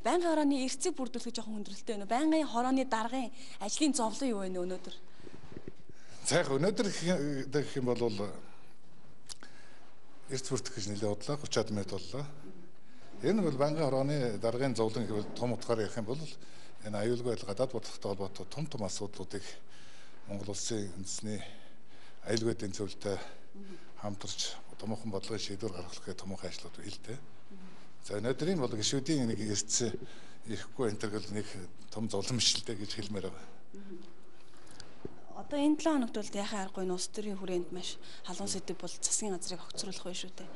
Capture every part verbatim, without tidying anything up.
байнгын хорооны эрсцийг бүрдүүлэх жоохон хүндрэлтэй байна уу? Байнгын хорооны даргын ажлын зовлон юу вэ өнөөдөр? За яг өнөөдөр гэх юм бол эрс бүрдэх гэж нэлээд бодлоо, гурван минут боллоо. Энэ бол байнгын хорооны даргын зовлон гэвэл том утгаар ярих юм бол энэ аюулгүй байдал гадаад бодлоготой холбоотой том том асуудлуудыг Монгол улсын үндэсний аюулгүй эдийн засгийн хамтарч томоохон бодлогын шийдвэр гаргах гэх томоохон ажлууд хийлтэй. За өнөөдрийн бол гишүүдийн нэг эрс ирэхгүй энэ төр нэг том зовлон мишэлтэй гэж хэлмээр байгаа. Одоо энэ долоо хоногт бол яхаа аргагүй улс төрийн хүрээнд маш халуун сэдв бол засгийн газрыг огцруулах байх шүү дээ.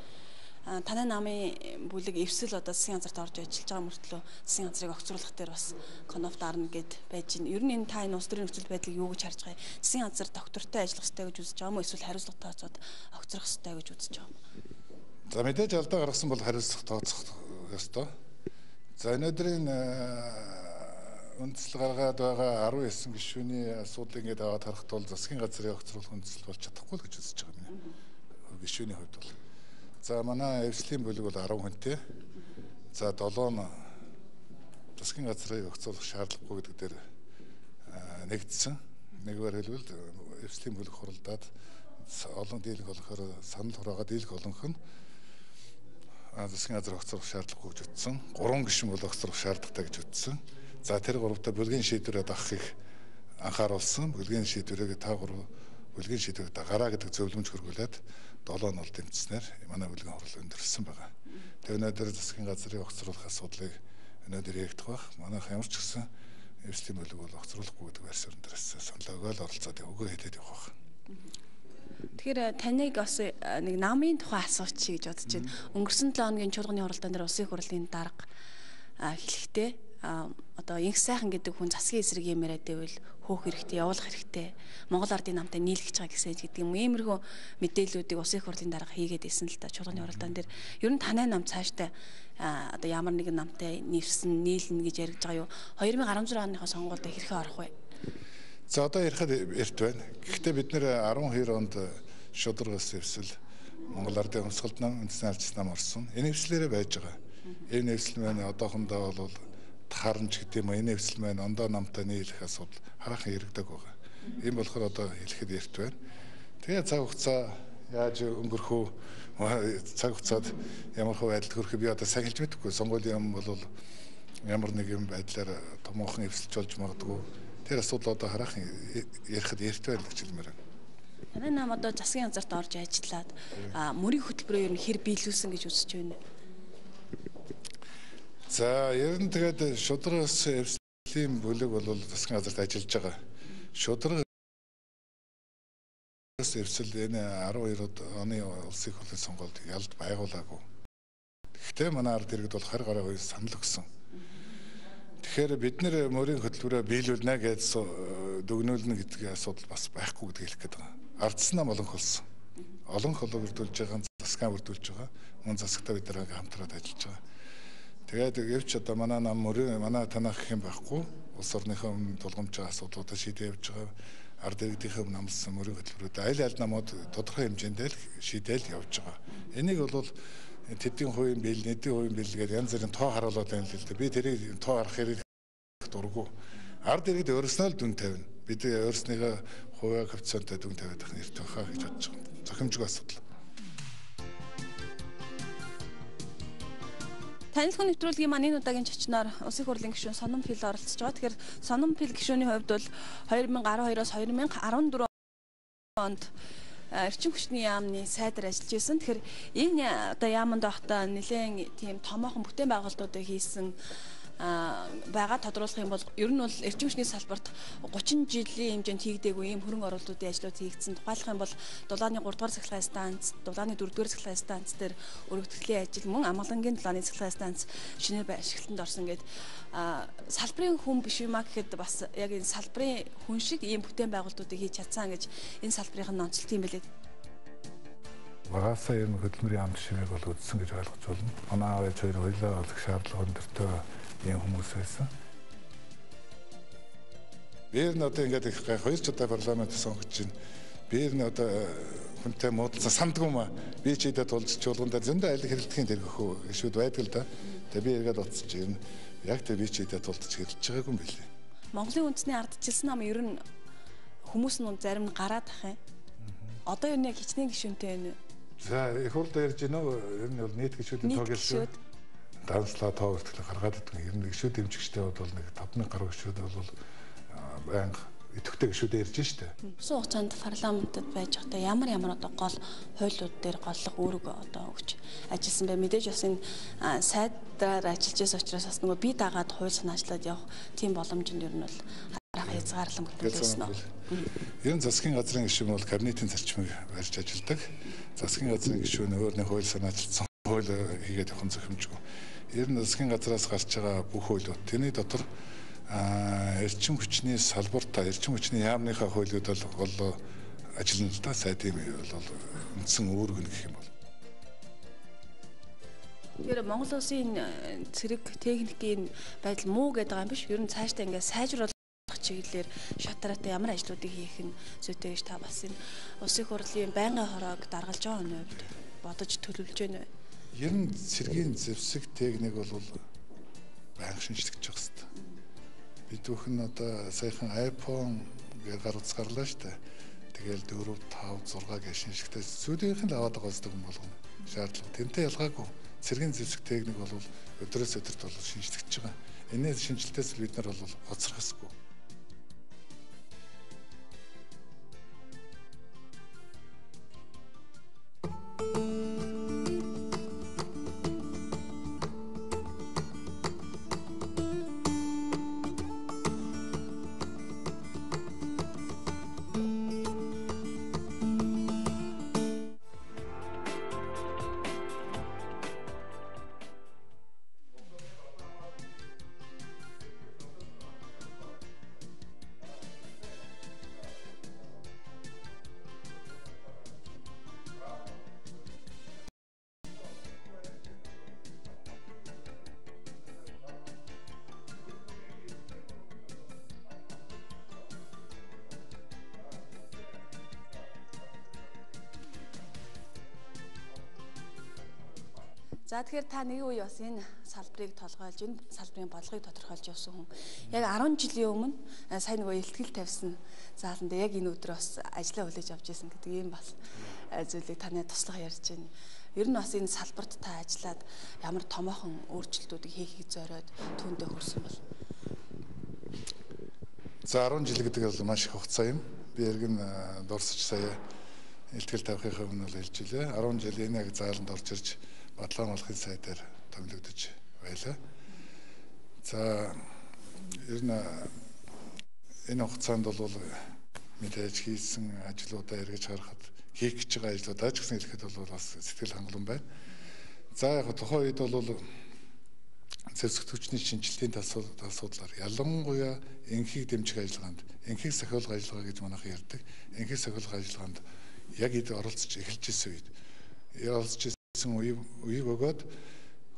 Танай намын бүлэг эвсэл одоо засгийн газарт орж ажиллаж байгаа мөртлөө засгийн газрыг огцруулах дээр бас конф дарна гэд байж байна. Ер нь энэ та энэ улс төрийн нөхцөл байдлыг юу гэж харж байгаа юм? Засгийн газар доктортой ажиллах хэрэгтэй гэж үзэж байгаа юм уу? Эсвэл хариуцлага тооцоод огцрох хэрэгтэй гэж үзэж байгаа юм? За мэдээж алдаа гаргасан бол хариуцлага тооцох ёстой. За өнөөдрийн үндэслэл гаргаад байгаа арван девять гишүүний асуудлыг ингээд аваад харахад бол засгийн газрын огцруулах үндэслэл болж чадахгүй л гэж үзэж байгаа юм. Гишүүний хувьд бол. За манай эвслийн бүлэг бол арван хүнтэй. За долоо засгийн газрыг огцруулах шаардлагагүй гэдэг дээр нэгдсэн. Нэгвэр хэлбэл эвслийн бүлэг хуралдаад олон дийлэх болохоор санал хураагаад дийлэх олонх нь засгийн газар огцруулах шаардлагагүй гэж утсан. Гурван гишүүн бол огцруулах шаардлагатай гэж утсан. За тэр гуравтаа бүлгийн шийдвэрээ дагахыг анхааруулсан. Бүлгийн шийдвэрээ та гурав бүлгийн шийдвэрээ дагараа гэдэг зөвлөмж хөргүүлээд долоо нь бол дэмжснээр манай бүлгийн хурал өндөрсөн байгаа. Тэгээ өнөөдөр засгийн газрын огцруулах асуудлыг өнөөдөр яригдах байх. Манайх ямар ч гэсэн эвслийн бүлэг бол огцруулахгүй гэдэг версион дээрээс санал өгөөл оролцоод өгөө хэлээд явах байх. Тэгэхээр таныг бас нэг намын тухай асууч гэж бодож байна. Өнгөрсөн долоо хоногийн чуулганы хуралдаан дээр улсын хурлын дарга хэлэхдээ одоо инх сайхан гэдэг хүн засгийн эсрэг юм яриад байвал хөөх хэрэгтэй, явуулах хэрэгтэй. Монгол ардын намтай нийлгэж байгаа гэсэн гэдэг юм. Иймэрхүү мэдээллүүдийг улсын хурлын дарга хийгээд исэн л та чуулганы хуралдаан дээр. Ер нь танай нам цаашдаа одоо ямар нэгэн намтай нийлсэн, нийлнэ гэж яригдж байгаа юу? две тысячи десять оныхоо сонгуульд хэрхэн орох вэ? За одоо ярихад эрт байна. Гэхдээ бид нэр twelve онд шударгаас эвсэл Монгол ардын өмсгөлд нам, үндэсний алчс нам орсон. Энэ эвслээрээ байж байгаа. Энэ эвсэл маань одоохондоо бол тарамж гэдэг юм. Энэ эвсэл маань ондоо намтай нийлэх асуудал хараахан яригдаг байгаа. Ийм болохоор одоо хэлэхэд эрт байна. Тэгээ цаг хугацаа яаж өнгөрөх үү? Цаг хугацаад ямар хөө байдалд хүрэх би одоо сайн хэлж мэдэхгүй. Сонгуулийн юм бол ямар нэгэн байдлаар томоохон эвсэлж болж магадгүй. Тэр асуудал одоо хараахан ярихад эрт байна гэж хэлмээр байна. Танай нам одоо засгийн газарт орж ажиллаад мөрийн хөтөлбөрөөр ер нь хэр биелүүлсэн гэж үзэж байна. За ер нь тэгээд шударгаас эвслийн бүлэг бол засгийн газарт ажиллаж байгаа. Шударгаас эвсэл энэ twelve оны улсын хурлын сонгуульд ялд байгуулаагүй. Гэхдээ манай ард иргэд бол харь гараа хоёр санал өгсөн. Тэгэхээр бид нэр мөрийн хөтөлбөрөөр биелүүлнэ гэж дүгнүүлнэ гэдэг асуудал бас байхгүй гэдгийг хэлэх гээд байгаа. Ардсан нам олонх болсон. Олонх холоо бүрдүүлж байгаа, засгаа бүрдүүлж байгаа. Мөн засагтаа бид нарыг хамтраад ажиллаж байгаа. Тэгээд гэвч одоо манай нам мөрийн манай танах гэх юм байхгүй. Улс орныхоо өмнө тулгамж байгаа асуудлуудаа шийдэж явж байгаа. Ард иргэдийнхээ өмнө амлсан мөрийн хөтөлбөрүүд аль аль намууд тодорхой хэмжээнд л шийдэл явж байгаа. Энийг бол тэдний хувийн бил, нэдийн хувийн бил гэдэг янз бүрийн тоо харуулад байна л л дээ. Би тэрийг тоо харах хэрэг дурггүй. Ард иргэд өөрснөө л дүн тавина. Бид өөрснийхөө хувийн коэффициенттэй дүн тавиад байх нэртэй байхаа гэж бодож байгаа. Зохимжгүй асуудал. Танилцах нэвтрүүлгийн маань энэ удаагийн чочноор улсын хурлын гишүүн Сонин Пил оролцож байгаа. Тэгэхээр Сонин Пил гишүүний хувьд бол twenty twelve-оос twenty fourteen онд эрчим хүчний яамны сайдаар ажиллаж байсан. Тэгэхээр энэ одоо яаманд байхдаа нэлээд тийм томоохон бүтээн байгуулалтуудыг хийсэн байгаа тодруулах юм бол ер нь бол эрчим хүчний салбарт thirty жилийн хэмжээнд хийгдээгүй ийм хөрөнгө оруулалтуудын ажлууд хийгдсэн. Тухайлах юм бол дулааны three дугаар цахилгаан станц, дулааны four дугаар цахилгаан станц дээр өргөдөгчлийн ажил, мөн амгалангийн дулааны цахилгаан станц шинээр ашиглалтанд орсон гэдэг салбарын хүн биш юмаа гэхэд бас яг энэ салбарын хүн шиг ийм бүтээн байгуулалтуудыг хийж чадсан гэж энэ салбарын нонцлт юм билээ. Багасаа юм хөдөлмөрийн амт шимэг бол үдсэн гэж ойлгож байна. Манай аав ээж хоёр хоёлаа олох шаардлага өндөртэй ийм хүмүүс байсан. Би энэ одоо ингээд их хоёр ч удаа парламент сонгож чинь биер нь одоо хүнтэй муудалцсан сандгүй маа би ч идэ тулж чуулган дээр зөндөө айлг хэрэлдэхин дэргэх гişүүд байдаг л да. Тэгээ би эргээд утсаж юм яг тэр би ч идэ тулж хэрэлдэж байгаагүй юм билээ. Монголын үндэсний ардчилсан нам ер нь хүмүүс нь зарим нь гараад ах юм. Одоо ер нь яг хичнээн гишүүнтэй байна. За их хурлаа ярьж гинөө ер нь бол нийт гишүүдийн тоог хэлсэн. Данслаа тоо хүртэл гаргаад идэх ер нь гишүүд дэмжигчтэй бол нэг тавны гаруй гишүүд бол байнга идэвхтэй гишүүдээр ирж штэ. Усан хугацаанд парламентод байж байхдаа ямар ямар одоо гол хуулиуд дээр голлох үүрэг одоо өгч ажилласан бай. Мэдээж бас энэ сайдаар ажиллаж байсан учраас бас нөгөө бие дагаад хууль санаачлаад явах тийм боломжинд ер нь бол харах хязгаарлан бүтээлсэн нь. Ер нь засгийн газрын гишүүн бол кабинетийн зарчмыг барьж ажилладаг. Засгийн газрын гишүүн өөр нэг хууль санаачилсан хууль хийгээд явах зөвхөмжгүй. Ер нь засгийн газраас гарч байгаа бүх хуулиуд тэрний дотор эрчим хүчний салбартаа эрчим хүчний яамныхаа хуулиуд бол гол ажиллана л да. Сайдын бол үндсэн үүрэг нь гэх юм бол. Тэгэхээр Монгол улсын цэрэг техникийн байдал муу гэдэг юм биш. Ер нь цаашдаа ингээд сайжруулах чиглэлээр шатараатай ямар ажлуудыг хийх нь зүйтэй гэж та бас энэ улсын хурлын байнгын хороог даргалж байгаа нь хувьд бодож төлөвлөж байна вэ? Ер нь цэргийн зэвсэг техник бол байнга шинжлэх явах хэрэгтэй. Бид бүхэн одоо саяхан iPhone гэ гар утас гарлаа штэ. Тэгэл дөрөв, тав, зураг гэж шинжлэхтэй зүйлийнх нь аваад байгаа зүйл юм болгоно. Шаардлага. Тэнтэй ялгаагүй. Цэргийн зэвсэг техник бол өдрөөс өдөрт бол шинжлэгдэж байгаа. Энэс шинжилтээс бид нар бол хоцрох ёсгүй. За тэгэхээр та нэг үе бас энэ салбарыг толгойлж, энэ салбарын бодлогыг тодорхойлж явсан хүн. Яг арван жилийн өмнө сая нөгөө илтгэл тавьсан зааланд яг энэ өдөр бас ажиллаа хүлээж авч ирсэн гэдэг ийм бас зүйлийг таны туслах ярьж байна. Ер нь бас энэ салбарт та ажиллаад ямар томоохон өөрчлөлтүүдийг хийхийг зориод түүндээ хүрсэн бол. За арван жил гэдэг бол маш их хугацаа юм. Би эргэн дурсаж сая илтгэл тавихын өмнө л хэлж илээ. арван жил энэ яг зааланд орж ирж Батлан малхын сайдаар томилогдож байлаа. За ер нь энэ хугацаанд бол мэдээж хийсэн ажлуудаа эргэж харахад хийх гэж байгаа ажлуудаа ч гэсэн хэлэхэд бол бас сэтгэл хангалуун байна. За яг тухайн үед бол зэвсэг түвшний шинжилтийн асуудлаар ялангуяа энхийг дэмжих ажиллагаанд энхийг сахиулах ажиллагаа гэж манайхан ярьдаг. Энхийг сахиулах ажиллагаанд яг эд оролцож эхэлж ирсэн үед оролцож үе үе бөгөөд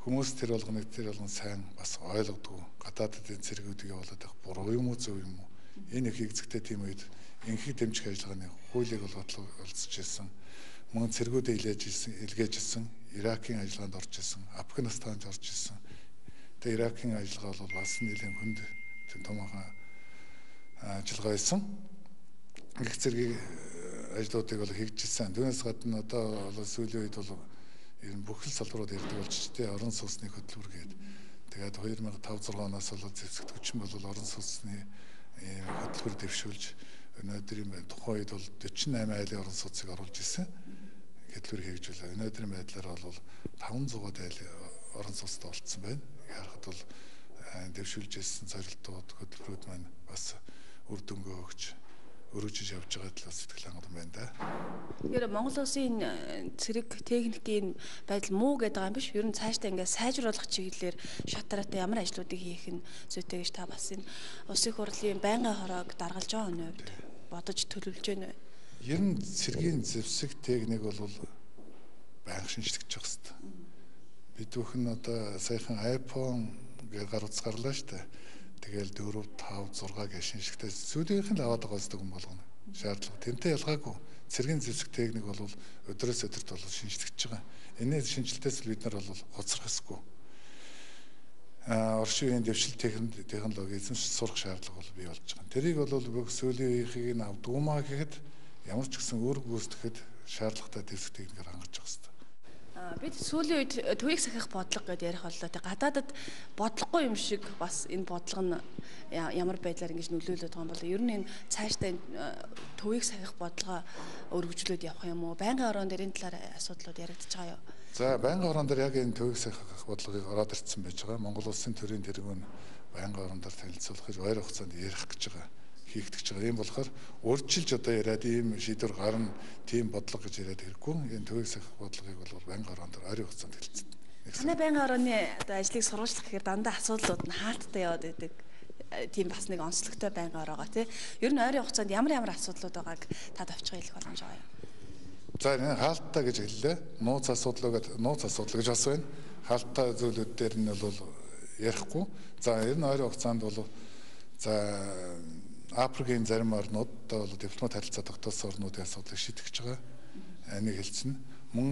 хүмүүс тэр болгоныг тэр болгон сайн бас ойлгодгүй гадаадын цэргүүдийг явуулаад байх буруу юм уу зөв юм уу энэ их хэцэгтэй тийм үед энхийг дэмжих ажиллагааны хуулийг бол олцож ирсэн мөн цэргүүдээ илээж ирсэн илгээж ирсэн Иракийн ажиллагаанд орж ирсэн Афганистанд орж ирсэн тэгээ Иракийн ажиллагаа бол бас нэлээд хүнд томоохон ажиллагаа байсан их цэргийн ажлуудыг бол хийжсэн түүнээс гадна одоо бол сүүлийн үед бол ер нь бүх л салбарууд ярьдаг болчихжээ орон сууцны хөтөлбөр гээд тэгээд хоёр мянга и тавь зургаан оноос бол зэвсэг түвшин бол орон сууцны хөтөлбөр дэвшүүлж өнөөдрийн тухайн үед бол дөрвөн найман айлын орон сууцыг оруулж ирсэн хөтөлбөр хэрэгжүүлээ. Өнөөдрийн байдлаар бол таван зугаад айл орон сууцтай болцсон байна. Харахад бол дэвшүүлж ирсэн зорилтууд хөтөлбөрүүд маань бас үр дүнгээ өгч өргөжж явж байгаа талаас сэтгэл хангалуун байна да. Тэгэхээр Монгол улсын цэрэг техникийн байдал муу гэдэг юм биш. Ер нь цаашдаа ингээд сайжруулах чиглэлээр шатараатай ямар ажлуудыг хийх нь зүйтэй гэж та бас энэ улсын хурлын байнгын хороог даргалж байгаа нь хувьд бодож төлөвлөж байна вэ? Ер нь цэргийн зэвсэг техник бол байнга шинжлэх явах хэрэгтэй. Бид бүхэн одоо саяхан iPhone гэ гар утас гарлаа штэ. Тэгэл дөрөв, тав, зураг гэж шинжлэхтэй зүйлийнх нь аваад байгаа зүйл юм болгоно. Шаардлага. Тэнтэй ялгаагүй. цэргийн зэвсэг техник бол өдрөөс өдөрт бол шинжлэгдэж байгаа. Энэ шинжилтээс бид нар бол хоцрох ёсгүй. Орчин үеийн дэвшил технологи эзэмшиж сурах шаардлага бол бий болж байгаа. Тэрийг бол бүх сүүлийн үеийнхийг нь авдгуумаа гэхэд ямар ч гэсэн үүрэг гүйцэтгэхэд шаардлагатай дэвсэг техникээр хангаж байгаа хэрэгтэй. Бид сүүлийн үед төвийг сахих бодлого гэдээ ярих боллоо. Тэг гадаадад бодлогогүй юм шиг бас энэ бодлого нь ямар байдлаар ингэж нөлөөлөд байгаа юм бол ер нь энэ цаашдаа төвийг сахих бодлогоо өргөжлөөд явах юм уу? Байнгын орон дээр энэ талаар асуудлууд яригдчихэж байгаа юу? За байнгын орон дээр яг энэ төвийг сахих бодлогыг ороод ирсэн байж байгаа. Монгол улсын төрийн тэргүүн байнгын орон дээр танилцуулах ойр хугацаанд ярих гэж байгаа. Хийгдэж байгаа. Ийм болохоор урьдчилж одоо яриад ийм шийдвэр гарна, тийм бодлого гэж яриад хэрэггүй. Энэ төвийг сахих бодлогыг бол байнгын орон дээр ойрын хугацаанд хэлсэн. Танай байнгын орны одоо ажлыг сурвалжлах гэхээр дандаа асуудлууд нь хаалттай яваад байдаг. Тийм бас нэг онцлогтой байнгын ороогоо тий. Ер нь ойрын хугацаанд ямар ямар асуудлууд байгааг та давчгаа хэлэх боломж байгаа юу? За энэ хаалттай гэж хэллээ. Нууц асуудал гэдэг нууц асуудал гэж бас байна. Хаалттай зүйлүүд дээр нь бол ярихгүй. За ер нь ойрын хугацаанд бол за Африкийн зарим орнуудад бол дипломат харилцаа тогтоосон орнуудын асуудлыг шийдэж байгаа. Энийг хэлсэн. Мөн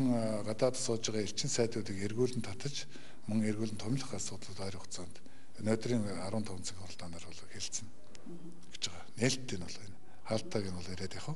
гадаад сууж байгаа элчин сайдуудыг эргүүлэн татаж, мөн эргүүлэн томилох асуудлууд ойрын хугацаанд өнөөдрийн арван таван цаг хугацаанаар бол хэлсэн гэж байгаа. Нээлттэй нь бол энэ хаалтайг нь бол яриад явах.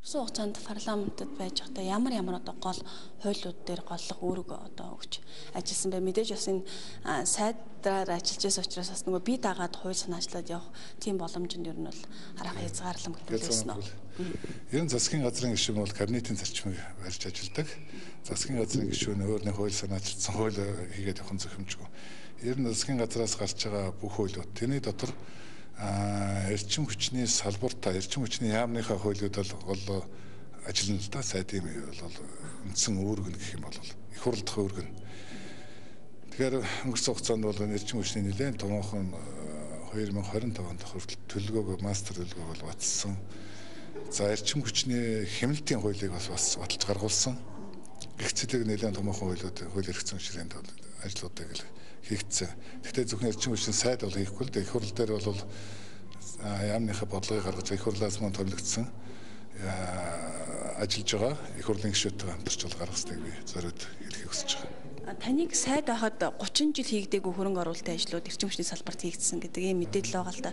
Орчин хугацаанд парламентод байж байхдаа ямар ямар одоо гол хуулиуд дээр голлох үүрэг одоо өгч ажилласан бай. Мэдээж бас энэ сайдаар ажиллаж байсан учраас бас нөгөө бие дагаад хууль санаачлаад явах тийм боломжинд ер нь бол арга хязгаарлам гэсэн үү. Ер нь засгийн газрын гишүүн бол кабинетийн зарчмыг барьж ажилладаг. Засгийн газрын гишүүн өөрний хууль санаачилсан хууль хийгээд явах зөвхөмжгүй. Ер нь засгийн газраас гарч байгаа бүх хуулиуд тэрний дотор эрчим хүчний салбартаа эрчим хүчний яамныхаа хуулиуд бол ажиллана л да. Сайдын бол үндсэн үүрэг нь гэх юм бол их хурл дахь үүрэг нь. Тэгэхээр өнгөрсөн хугацаанд бол эрчим хүчний нэлээд томоохон хоёр мың хорин таван дахь хүртэл төлөвлөгөөг мастер төлөвлөгөөг бол батсан. За эрчим хүчний хяналтын хуулийг бас бас баталж гаргуулсан. Гэх зэтэг нэлээд томоохон хуулиуд хууль эрх зүйн ширээнд бол ажлуудыг л хийгдсэн. Гэхдээ зөвхөн эрчим хүчний сайд бол хийхгүй л дээ. Их хурл дээр бол яамныхаа бодлогыг гаргаж их хурлаас мөн томилогдсон ажиллаж байгаа. Их хурлын гишүүдтэй хамтарч бол гаргах хэрэгтэй би зориуд хэлхийг хүсэж байгаа. Таныг сайд байхад гучин жил хийгдээгүй хөрөнгө оруулалтын ажлууд эрчим хүчний салбарт хийгдсэн гэдэг ийм мэдээлэл байгаа л да.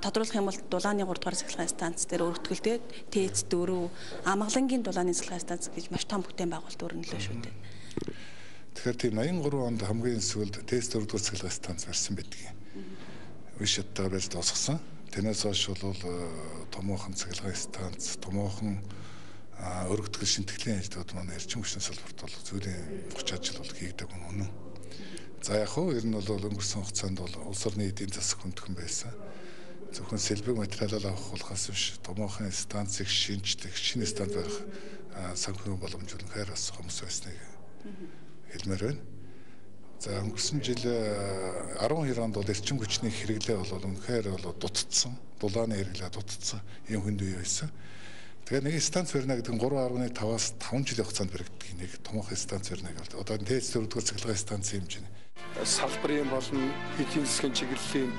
Тодруулах юм бол дулааны гурав дахь цахилгаан станц дээр өргөтгөлтэй ТЭЦ дөрөв, Амгалангийн дулааны цахилгаан станц гэж маш том бүтээн байгуулалт өрнөлөө шүү дээ. Тэгэхээр тийм аян гурван онд хамгийн сүүлд ТЭЦ дөрөв дахь цахилгаан станц барьсан байдаг. Үе шаттайгаар барьж дуусгасан. Тэрнээс хойш бол томоохон цахилгаан станц, томоохон өргөтгөл шинтгэлийн ажлууд маань эрчим хүчний салбарт бол зүйн хүч ажил бол хийгдэг үнэн. За яг хөө ер нь бол өнгөрсөн хугацаанд бол улс орны эдийн засаг хүндхэн байсан. Зөвхөн сэлбэг материалаа авах болохоос биш томоохон станцыг шинжлэх, шинэ станц барих санхүүгийн боломж үнэхээр бас хүмүүс байсныг хэлмээр байна. За өнгөрсөн жил арван хоёр онд бол эрчим хүчний хэрэглээ бол үнэхээр бол дутцсан. Дулааны хэрэглээ дутцсан. Ийм хүнд үе байсан. Тэгэхээр нэг станц барина гэдэг нь гурван арван таваас таван жилийн хугацаанд баригддаг нэг томоохон станц барина гэдэг. Одоо ТЭЦ дөрөв дахь цахилгаан станцын хэмжээ. Салбарын болон эдийн засгийн чиглэлийн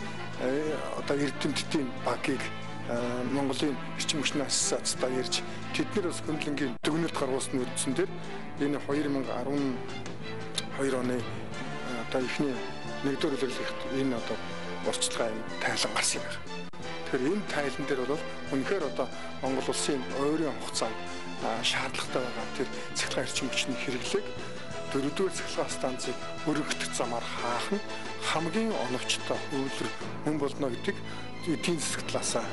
одоо эрдэмтдийн багийг Монголын эрчим хүчний ассоциацтай ярьж тэднэр бас хөндлөнгийн дүгнэлт гаргуулсан үндсэн дээр энэ хоёр мың и арван хоёр оны одоо ихний нэгдүгээр үлрэлт энэ одоо урьдчилгаа тайлан гарсан юм байна. Тэгэхээр энэ тайлан дээр бол үнэхээр одоо Монгол улсын ойрын хугацаанд шаардлагатай байгаа тэр цахилгаан эрчим хүчний хэрэглээг дөрөвдүгээр цахилгаан станцыг өргөх замаар хаах нь хамгийн оновчтой үйлдвэр мөн болно гэдэг эдийн засаг талаасаа,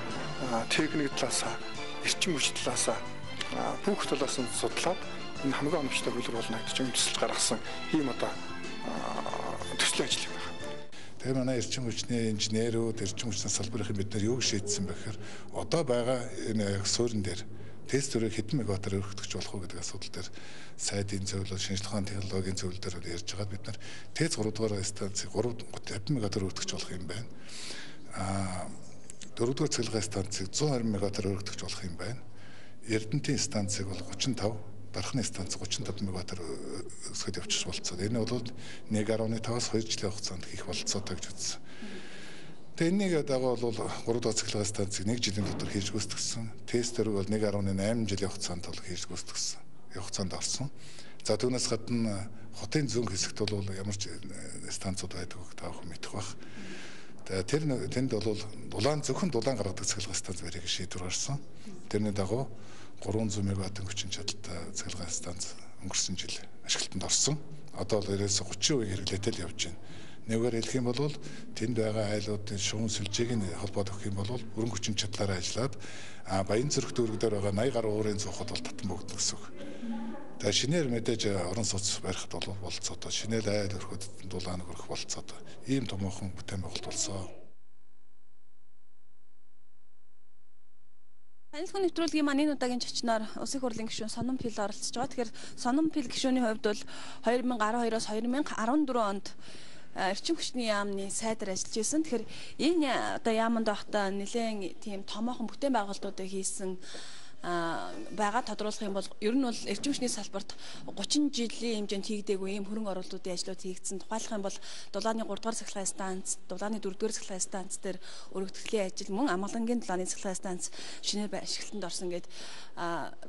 техник талаасаа, эрчим хүч талаасаа бүх талаас нь судлаад энэ хамгийн оновчтой үйлдвэр болно гэж үндэслэж гаргасан ийм одоо төслийн ажил юм байна. Тэгээ манай эрчим хүчний инженерүүд, эрчим хүчний салбарын бид нар юуг шийдсэн бэ гэхээр одоо байгаа энэ суурин дээр тест төрөг хэдэн мегаваттаар өргөдөгч болох уу гэдэг асуудал дээр сайдын зөвлөл, шинжилгээ ухааны технологийн зөвлөл дээр ярьж байгаа бид нар ТЭЦ гурав дугаар станцыг хэдэн мегаваттаар өргөдөгч болох юм байна. Аа дөрөв дугаар цэглэгээ станцыг зуун харин мегаваттаар өргөдөгч болох юм байна. Эрдэнэтийн станцыг бол гучин тав, Дархны станц гучин тав мегаваттаар өсгөд явчих болцоод. Энэ бол нэг гаруй таваас хоёр жилийн хугацаанд хийх болцоотой гэж үзсэн. Тэгээ энэнийг дагуу бол гурав дахь цэглэгээ станцыг нэг жилийн дотор хийж гүйцэтгсэн. Тестер бол нэг гаруй найман жилийн хугацаанд бол хийж гүйцэтгсэн. Хугацаанд орсон. За түүнээс гадна хотын зүүн хэсэгт бол ямар ч станцууд байдгийг та бүхэн мэдэх бах. Тэр тэнд бол дулаан зөвхөн дулаан гаргадаг цэглэгээ станц барих шийдвэр гарсан. Тэрний дагуу гурван зуун мегаваттын хүчин чадалтай цэглэгээ станц өнгөрсөн жил ашиглалтанд орсон. Одоо бол ерөөсө гучин хувийн хэрэглээтэй л явж байна. Нэгээр хэлэх юм бол тэнд байгаа айлуудын шугам сүлжээг нь холбоод өгөх юм бол бүрэн хүчин чадлаараа ажиллаад Баян Зүрх дүүрэг дээр байгаа наяа гаруй уурын зуухад бол татан богдно гэсэн үг. Тэгээ шинээр мэдээж орон сууц барихд бол болцоотой. Шинээр айл өрхөд дулаан өрөх болцоотой. Ийм томоохон бүтээн байгуулалт болсон. Танилцах нэвтрүүлгийн маань энэ удаагийн зочноор Улсын хурлын гишүүн Сонин Пил оролцож байгаа. Тэгэхээр Сонин Пил гишүүний хувьд бол хоёр мянга арван хоёроос хоёр мянга арван дөрвөн онд эрчим хүчний яамны сайдаар ажиллаж байсан. Тэгэхээр энэ одоо яаманд байхдаа нэлээд тийм томоохон бүтээн байгуулалтуудыг хийсэн байгаа тодруулах юм бол ер нь бол эрчим хүчний салбарт гучин жилийн хэмжээнд хийгдээгүй ийм хөрөнгө оруулалтуудын ажлууд хийгдсэн. Тухайлах юм бол дулааны гурав дахь цэглэгээ станц, дулааны дөрөв дахь цэглэгээ станц дээр өргөдөгчлийн ажил, мөн Амгалангийн дулааны цэглэгээ станц шинээр ашиглалтанд орсон гэдэг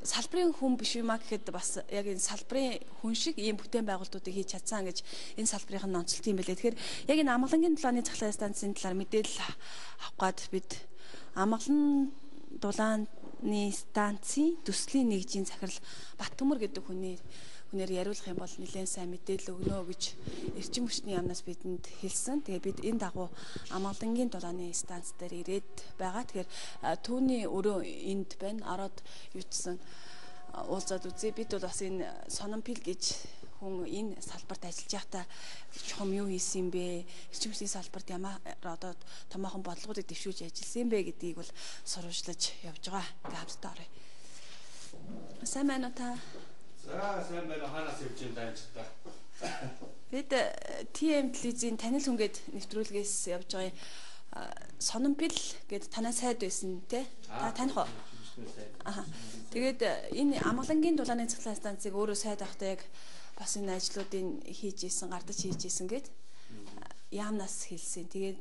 салбарын хүн биш юм а гэхэд бас яг энэ салбарын хүн шиг ийм бүтээн байгуулалтуудыг хийж чадсан гэж энэ салбарын нонцолт юм байлээ. Тэгэхээр яг энэ Амгалангийн дулааны цэглэгээ станцын талаар мэдээлэл авах гад бид Амгалан дулааны станцын төслийн нэгжийн захирал Баттөмөр гэдэг хүний хүнээр яриулах юм бол нэлээд сайн мэдээлэл өгнө гэж эрчим хүчний яамнаас бидэнд хэлсэн. Тэгээ бид энэ дагуу Амгалангийн дулааны станц дээр ирээд байгаа. Тэгэхээр түүний өрөө энд байна. Ороод юутсан уулзаад үзье. Бид бол бас энэ Сонин Пил гэж хүн энэ салбарт ажиллаж байхдаа чухам юу хийсэн юм бэ? Эрчим хүчний салбарт ямар одоо томоохон бодлогуудыг дэвшүүлж ажилласан юм бэ гэдгийг бол сурвалжлаж явж байгаа. Ингээ хамтдаа оръё. Сайн байна уу та? За сайн байна. Ханаас явж юм даа ч та. Бид Ти Эм телевизийн танил хүнгээд нэвтрүүлгээс явж байгаа Сонин Пил гэдэг танай сайд байсан тий? Та таних уу? Аа. Тэгээд энэ Амгалангийн дулааны цэглэгээ станцыг өөрөө сайд авахтаа яг бас энэ ажлуудыг хийж исэн, гардаж хийж исэн гэд яамнаас хэлсэн. Тэгээд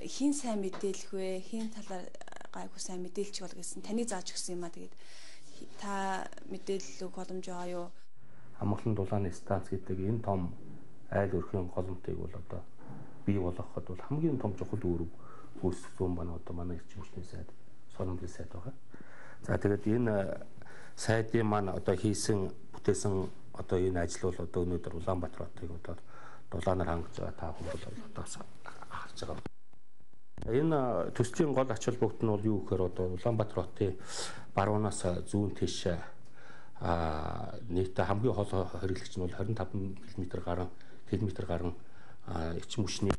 хин сайн мэдээлэх вэ? Хин талаар гайгүй сайн мэдээлчих бол гэсэн таны зааж өгсөн юм а. Тэгээд та мэдээлэл өгөх боломж байгаа юу? Амгалан дулааны станц гэдэг энэ том айл өрхийн голомтыг бол одоо бий болгоход бол хамгийн том чухал үүрэг гүйцэтгэсэн байна. Одоо манай эрчим хүчний сайд Сонин Пил сайд байгаа. За тэгээд энэ сайдын маань одоо хийсэн бүтээсэн одоо энэ ажил бол одоо өнөөдөр Улаанбаатар хотыг одоо дулаанаар хангаж байгаа та бүхэн бол одоо харж байгаа. Энэ төслийн гол ач холбогдол нь бол юу гэхээр одоо Улаанбаатар хотын баруунаас зүүн тийш а нийтдээ хамгийн хол хэрэглэгч нь бол двадцать пять км гаруй километр гаруй эрчим хүчний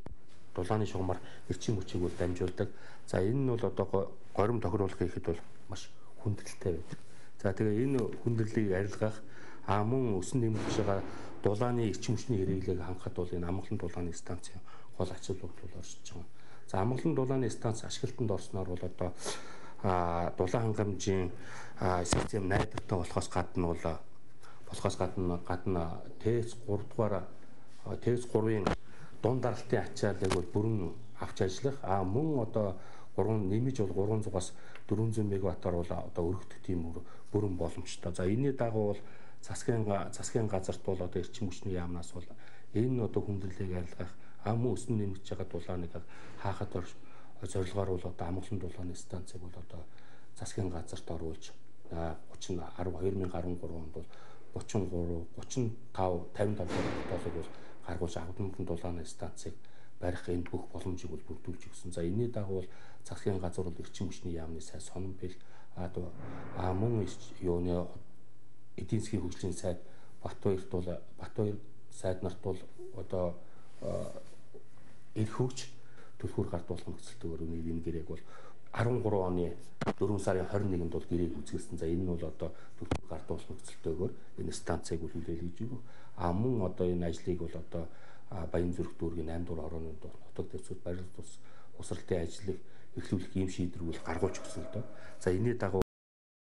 дулааны шугамар эрчим хүчийг бол дамжуулдаг. За энэ нь бол одоо горим тохируулах хийхэд бол маш хүндрэлтэй байдаг. За тэгээ энэ хүндрэлийг арилгах а мөн өсөн нэмэгдэж байгаа дулааны эрчим хүчний хэрэглээг хангахад бол энэ Амгалан дулааны станцын гол ач холбогдол оршиж байгаа. За Амгалан дулааны станц ашиглалтанд орсноор бол одоо дулаан хангамжийн систем найдвартай болохоос гадна бол болохоос гадна гадна ТЭЦ гурав дугаар ТЭЦ гурвын дунд даралтын ачааллыг бол бүрэн авч ажиллах а мөн одоо гурван нэмж бол гурван зугаас дөрвөн зуун мегаваттаар бол одоо өргөдөх тийм бүрэн боломжтой. За энэний дагуу бол засгийн засгийн газарт бол одоо эрчим хүчний яамнаас бол энэ одоо хүндрэлийг арилгах а мөн өснө нэмэгдэж байгаа дулааныг хаахад зорилгоор бол одоо Амгалан дулааны станцыг бол одоо засгийн газарт оруулж гучин хоёр мянга арван гурав онд бол гучин гурав гучин тав тавин тав долларыг бол гаргуулж Амгалан дулааны станцыг барих энэ бүх боломжийг бол бүрдүүлж өгсөн. За энэний дагуу бол засгийн газар бол эрчим хүчний яамны сайд Сонин Пил а мөн юуны эдийн засгийн хөгжлийн сайд Батбаярт бол Батбаяр сайд нарт бол одоо эрх хөгж төлхөр гарт болох нөхцөлтөөр энэ гэрээг бол арван гурван оны дөрвөн сарын хорин нэгнд бол гэрээг үзүүлсэн. За энэ нь бол одоо төлөв гард ус нөхцөлтэйгээр энэ станцыг үлээлэл гэж юу. А мөн одоо энэ ажлыг бол одоо Баян зүрх дүүргийн наймд дугаар орооны нутаг дэвсгэр барилт ус усралтын ажлыг эхлүүлэх ийм шийдвэрийг гаргуулж өгсөн л доо. За энэний дагуу